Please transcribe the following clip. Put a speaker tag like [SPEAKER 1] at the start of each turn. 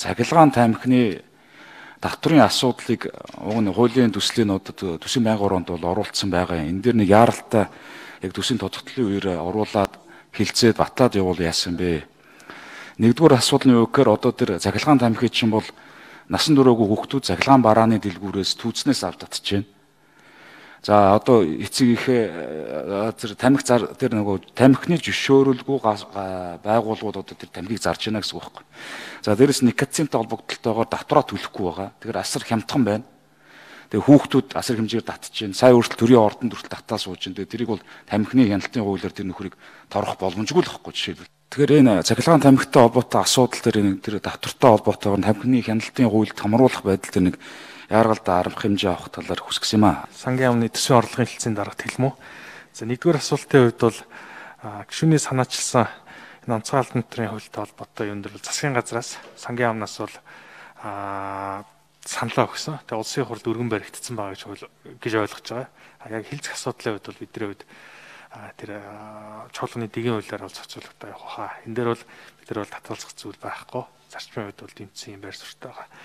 [SPEAKER 1] цахилгаан тамхины татврын асуудлыг уг нь хуулийн төслийн нодод төсвийн байнгын оронд бол оруулсан байгаа. Энэ дээр нэг яаралтай яг төсвийн тодтолтын үеэр оруулаад хилцээд батлаад явуул яасан бэ? Нэгдүгээр асуудлын үгээр одоо тэр цахилгаан тамхи чинь бол насан туршаагүй хүүхдүүд цахилгаан барааны дэлгүүрээс түүцнээс авч татж байна. За одоо эцэг ихээ тэр тамхи тэр нөгөө тамхины зөвшөөрөлгүй байгууллагууд одоо тэр тамхиг зарж байна гэсэн үг байхгүй. За дээрэс никотинтай холбогдлолтойгоор татвараа төлөхгүй байгаа. Тэгэхээр асар хямдхан байна. Тэгээ хүүхдүүд асар хэмжээгээр татж байна. Сая өөртөө төрийн ордонд хүртэл татаа сууж байна. Тэгээ тэрийг бол тамхины хяналтын хуулиар тэр нөхрийг торгох боломжгүй л байхгүй жишээлбэл. Тэгэхээр энэ цахилгаан тамхитай холбоотой асуудал тэр татвартай холбоотойгоор тамхины хяналтын хуульд хамруулах байдал тэр нэг яаргалдаа арга хэмжээ авах талаар хүсгсэн юм аа.
[SPEAKER 2] Сангийн яамны төсвийн орлогын хэлтсийн дарагт хэлмүү. За нэгдүгээр асуултын хувьд бол гишүүний санаачилсан энэ онцгой албан тушаалын хуультай холбоотой юм дээр засгийн газраас сангийн яамнаас бол саналаа өгсөн. Тэгээ улсын хурлд өргөн баригдсан байгаа гэж ойлгож байгаа. Яг хэлцэх асуудлын хувьд бол бидний хувьд тэр чуулганы дэгийн хуулиар бол зохицуулалтаа явах хаа. Энэ дээр бол бид нар бол татгалзах зүйл байхгүй. Зарчмын хувьд бол тэмцсэн юм байр суурьтай байгаа.